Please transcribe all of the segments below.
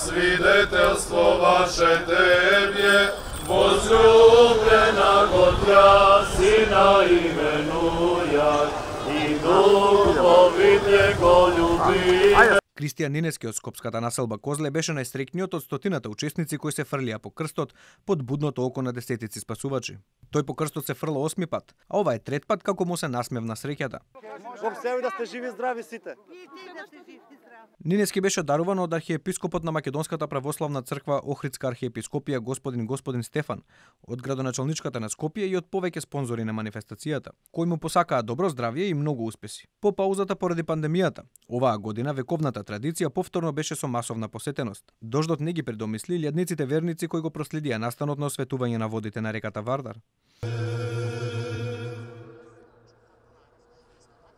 свидетелство ваше Тебе, возлюблена го Тя Сина именуја, и духовите го љубиме. Кристијан Нинески од скопската населба Козле беше најстрекниот од стотината учесници кои се фрлија по крстот под будното око на десетици спасувачи. Тој по крстот се фрла 8 пат, а ова е трет пат како му се насмевна среќата. Во себе да сте живи здрави сите. Нинески беше даруван од архиепископот на Македонската православна црква Охридска архиепископија господин Стефан, од градоначалничката на Скопје и од повеќе спонзори на манифестацијата, кои му посакаа добро здравје и многу успеси. По паузата поради пандемијата, оваа година вековната традиција повторно беше со масовна посетеност. Дождот не ги предомисли илјадниците верници кои го проследија настанот на осветување на водите на реката Вардар.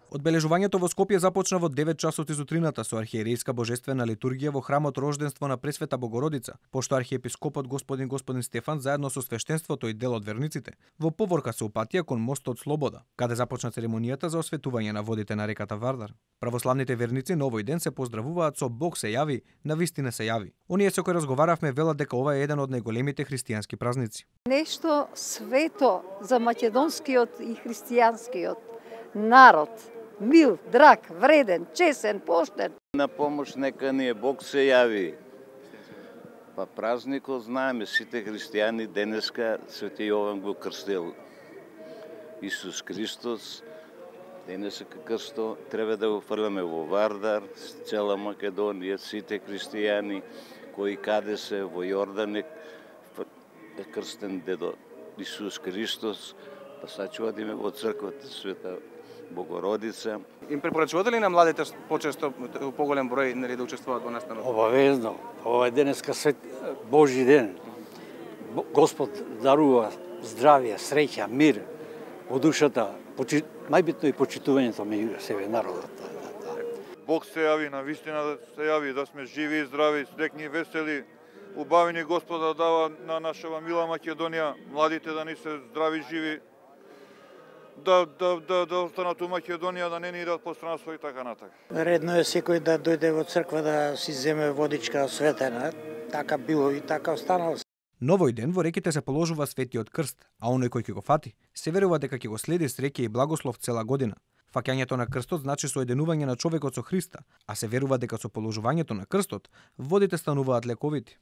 Одбележувањето во Скопје започна во 9 часот изутрината со архиерејска божествена литургија во храмот Рожденство на Пресвета Богородица, пошто архиепископот господин Стефан заедно со свештенството и дел од верниците во поворка се упатија кон мостот Слобода, каде започна церемонијата за осветување на водите на реката Вардар. Православните верници на овој ден се поздравуваат со Бог се јави, навистина се јави. Оние со кои разговаравме велат дека ова е еден од најголемите христијански празници. Нешто свето за македонскиот и христијанскиот народ. Мил, драг, вреден, чесен, поштен. На помош нека ни е Бог се јави. Па празникот знаеме сите христијани денеска Свети Јован го крстил. Исус Христос денеска крсто треба да го фрламе во Вардар, цела Македонија, сите христијани кои каде се во Јордан е крстен дедо Исус Христос, па сачуваме во црквата Света Богородица. Им препорачувате ли на младите почесто поголем број да учествуваат во настанот? Обавезно. Ова е денеска свет Божји ден. Господ дарува здравје, среќа, мир во душата, најбитно и почитувањето меѓу себе народот. Бог се јави, на вистина се јави, да сме живи и здрави, срекни и весели, убавени Господа дава на нашава мила Македонија, младите да ни се здрави, живи, да останат у Македонија, да не ни идат по страна свој така натака. Редно е секој да дојде во црква да си земе водичка осветена, така било и така останало. На овој ден во реките се положува светиот крст, а оној кој ќе го фати, се верува дека ќе го следи среќа и благослов цела година. Фаќањето на крстот значи соединување на човекот со Христа, а се верува дека со положувањето на крстот водите стануваат лековити.